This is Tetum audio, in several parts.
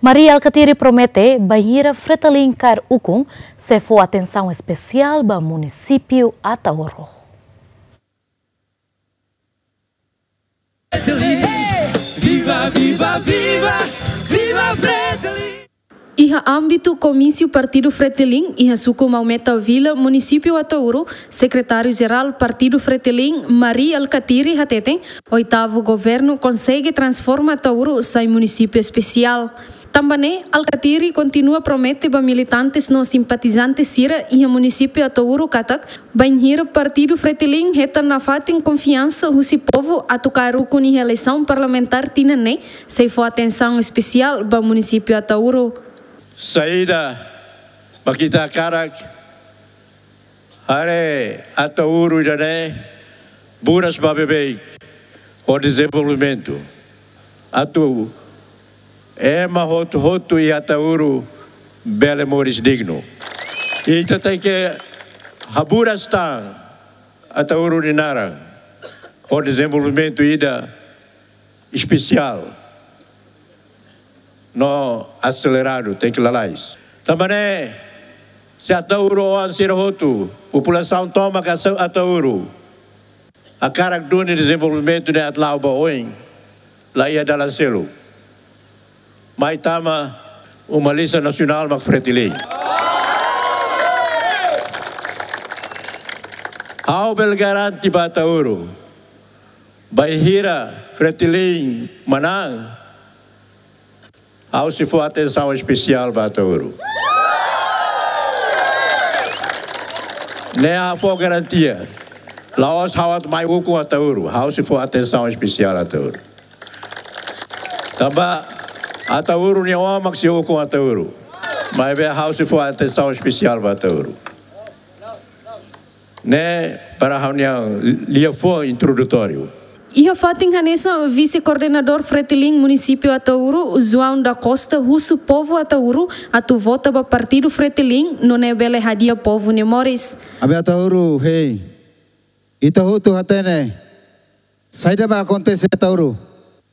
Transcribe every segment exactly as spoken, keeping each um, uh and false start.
Mari Alkatiri promete bainhira Fretilin kaer ukun, sei fó atensaun espesiál ba munisípiu Ataúro. Viva, viva, viva, viva Fretilin! Iha ámbitu komísiu Partidu Fretilin, iha suku Maumeta Vila, munisípiu Ataúro, Sekretáriu-Jerál Partidu Fretilin, Mari Alkatiri hateten, oitavu governu konsege transforma Ataúro sai munisípiu espesiál. Tanba ne'e, Alkatiri kontinua promete ba militantes no simpatizante sira iha munisípiu Ataúro katak, bainhira Partidu Fretilin hetan nafatin konfiansa husi povu atu kaer ukun iha eleisaun parlamentár tinan ne'e, sei fó atensaun espesiál ba munisípiu Ataúro. Saida mak ita hakarak haree Ataúro ida-ne'e buras ba beibeik ho dezenvolvimentu. Atu ema hotu-hotu iha Ataúro bele moris dignu. Ita tenke haburas tan Ataúro nia naran ho dezenvolvimentu ida espesiál no aseleradu, tenke lalais. Tanba ne'e, se Ataúro oan sira hotu, populasaun tomak Asa-, Ataúro hakarak duni dezenvolvimentu ne'e atu la'o ba oin, la iha dalan seluk. Mai tama uma lista nasionál mak Fretilin. Ha'u bele garante ba Ataúro, bainhira Fretilin manán, ha'u sei fó atensaun espesiál ba Ataúro. Ne'e ha'u fó garantia. La'ós ha'u atu mai ukun Ataúro, ha'u sei fó atensaun espesiál Ataúro. Tanba Ataúro nia oan mak sei ukun Ataúro. Maibé ha'u sei fó atensaun espesiál ba Ataúro. Ne'e para ha'u-nia liafuan introdutóriu. Iha fatin hanesan, Vise-Koordenadór Fretilin Munisípiu Ataúro, João da Costa, husu povu Ataúro atu vota ba Partidu Fretilin, nune'e bele hadi'a povu nia moris. Ami Ataúro, hei. Ita hotu hatene saida mak akontese Ataúro.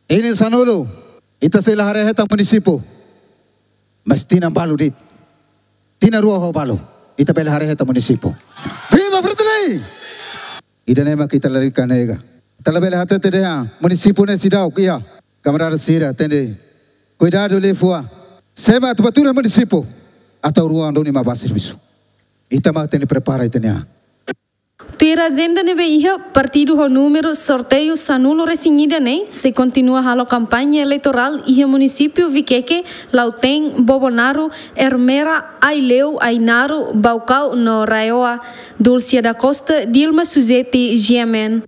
Iha sanulu, ita sei la haree hetan munisípiu. Mas tinan balu de'it, tinan rua ho balu, ita bele haree hetan munisípiu. Viva Fretilin! Ida-ne'e mak ita lalika nega. Ita labele hatete dehan munisípiu ne'e seidauk iha. Kamarada sira, tenke kuidadu liafuan. Se ema atu bá tuur iha munisípiu, Ataúro oan duni mak bá servisu. Ita mak tenke prepara ita-nia an. Tuir ajenda ne'ebé iha, partidu ho númeru sorteiu sanulu-resin-ida ne'e sei kontinua halo kampaña eleitorál iha munisípiu Viqueque, Lautém, Bobonaro, Ermera, Aileu, Ainaro, Baucau no RAEOA. Dulcia da Costa, Dilma Suzeti, G M N.